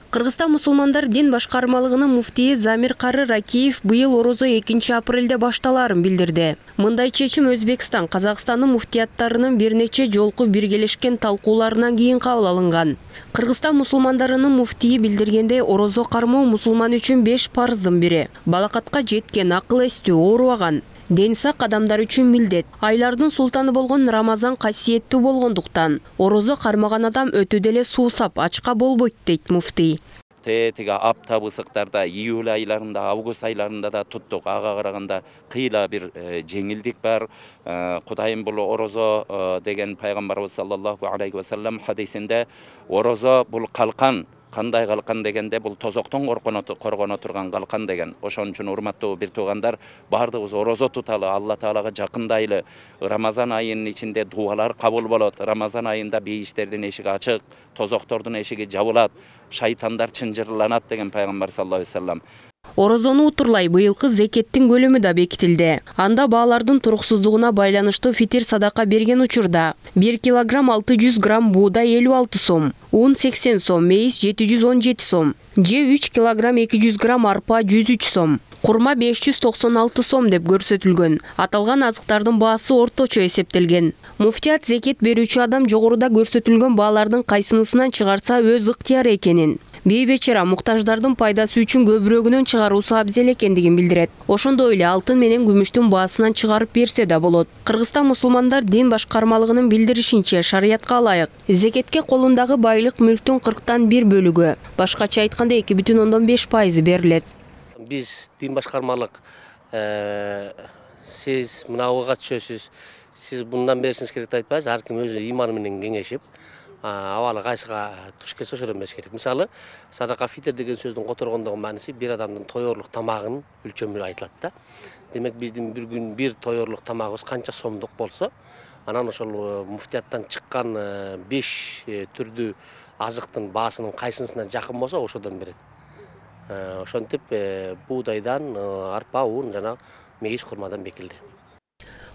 Кыргызстан мусулмандар дин башкармалыгынын муфтийи Замир Кары Ракиев быйыл орозо 2-апрелде башталарын билдирди. Мындай чечим Өзбекстан, Казакстандын муфтияттарынын бир нече жолку биргелешкен талкууларынан кийин кабыл алынган. Кыргызстан мусулмандарынын муфтийи билдиргендей, орозо кармоо мусулман үчүн 5 парыздын бири. Балакатка жеткен, акыл эстүү, оорубаган. Ден сак адамдар үчүн милдет. Айлардын султаны болгон Рамазан касиеттүү болгондуктан орозо кармаган адам өтө деле суусап, ачка болбойт дейт муфтий. Тиги аптап ысыктарда, июль айларында, август айларында да туттук. Ага караганда кыйла бир жеңилдик бар. Кудайым бул орозо деген пайгамбарыбыз саллаллаху алейхи ва саллям хадисинде орозо бул калкан. Кандай калкан дегенде бул тозоктон коргоно турган калкан деген. Ошон үчүн урматтуу бир туугандар, баардыгыбыз орозо туталы, Алла Таалага жакындайлы. Рамазан айынын ичинде дуалар кабыл болот. Рамазан айында бейиштердин эшиги ачык, тозоктордун эшиги жабылат, шайтандар чынжырланат деген пайгамбар саллаллаху алейхи ва саллям. Орозону утурлай быйылкы зекеттин көлөмү да бекитилди. Анда баалардын туруксуздугуна байланыштуу фитир садака берген учурда 1 килограмм 600 грамм буудай 56 сом, un 80 сом, мейиз 717 сом, же 3 килограмм 200 грамм арпа 103 сом, курма 596 сом деп көрсөтүлгөн. Аталган азыктардын баасы орточо эсептелген. Муфтият зекет берүүчү адам жогоруда көрсөтүлгөн баалардын кайсынысынан чыгарса өз ыктыяры экенин, бейбечара муктаждардын пайдасы үчүн көбүрөгүнөн чыгаруусу абзел экендигин билдирет. Ошондой эле алтын менен күмүштүн баасынан чыгарып берсе да болот. Кыргызстан мусулмандар дин башкармалыгынын билдиришинче, шариятка ылайык зекетке колундагы байлык мүлктүн 40-1 бөлүгү, башкача айтканда 2,5% берилет. Биз дин башкармалык сиз мынауга түшөсүз, сиз мындан беришиңиз керек деп айтпайбыз. Ар ким өзү иманы менен кеңешип, абалы кайсыга туш келсе ошодон бериш керек. Мисалы, садака фитр деген сөздүн которгондогу мааниси бир адамдын тоёрлук тамагынын өлчөмү айтылат да. Демек биздин бир күн бир тоёрлук тамагыбыз канча сомдук болсо, анан ошол муфтияттан чыккан 5 түрдүү азыктын баасынын кайсынысына жакын болсо ошодон берет. Ошентип буудайдан, арпа, un жана мейиз курмадан бекилди.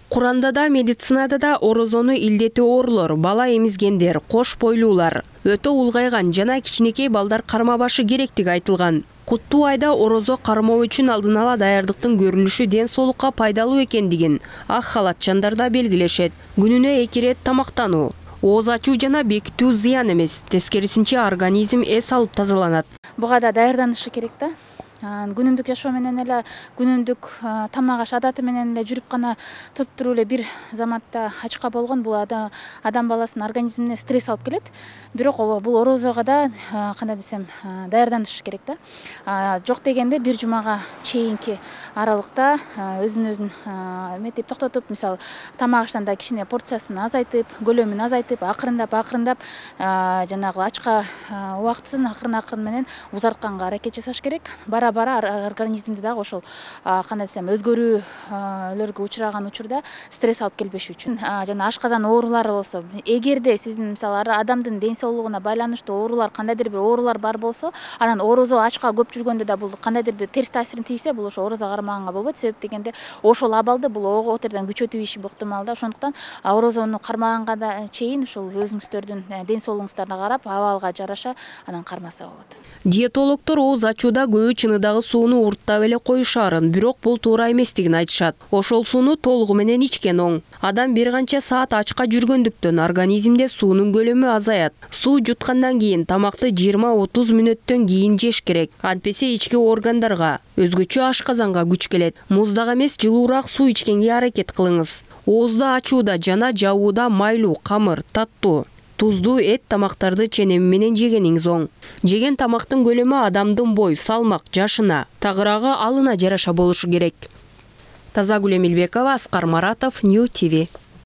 Куранда да, медицинада да орозону илдети оорулор, бала эмизгендер, кош бойлуулар, өтө улгайган жана кичинекей балдар кармабашы керектиги айтылган. Куттуу айда орозо кармоо үчүн алдын ала даярдыктын көрүлүшү ден соолукка пайдалуу экендигин ак халатчандар да белгилешет. Күнүнө 2 рет тамактануу, ооз ачуу жана бекитүү зыян эмес, тескерисинче организм эс алып тазаланат. Буга да даярданышы керек да. Күнүмдүк жашоо менен эле, күнүмдүк тамак аш адаты менен эле жүрүп гана туруп эле бир заматта ачка болгон бул адам баласынын организмине стресс алып келет. Бирок бул орозого да кандай десем даярданыш керек да. Жок дегенде бир жумага чейинки аралыкта өзүн эметип токтотуп, мисалы, тамак аштан да кичине порциясын азайтып, көлөмүн азайтып, акырындап жанагы ачка убактысын акырын менен узартканга аракет жасаш керек. Бара организмди дагы ошол кандай десем өзгөрүүлөргө учураган учурда стресс алып келбеш үчүн жана ашказан оорулары болсо, эгерде сиздин мисалы адамдын ден соолугуна байланыштуу оорулар, кандайдыр бир оорулар бар болсо, анан орозо ачка көп жүргөндө да бул кандайдыр бир терс таасирин тийсе, бул ошо орозо кармаганга болбойт. Себеп дегенде ошол абалды бул ого отерден күчөтүү иши ыктымал да. Ошондуктан орозону кармаганга да чейин ушул өзүңүздөрдүн ден соолугуңуздарга карап, абалга жараша анан кармаса болот. Диетологдор ооз ачууда көбү чыныдагы сууну урттап эле коюшаарын, бирок бул туура эместигин айтышат. Ошол сууну толугу менен ичкен оң. Адам бир канча саат ачка жүргөндүктөн организмде суунун көлөмү азаят. Суу жуткандан кийин тамакты 20-30 мүнөттөн кийин жеш керек. Антпесе ички органдарга, өзгөчө ашказанга күч келет. Муздак эмес, жылуураак суу ичкенге аракет кылыңыз. Оозду ачууда жана жабууда майлуу, камыр, таттуу, туздуу эт тамактарды ченеми менен жегениңиз оң. Жеген тамактын көлөмү адамдын бой, салмак, жашына, тагыраагы алына жараша болушу керек. Тазагүл Эмилбекова, Аскар Маратов, Нью ТВ.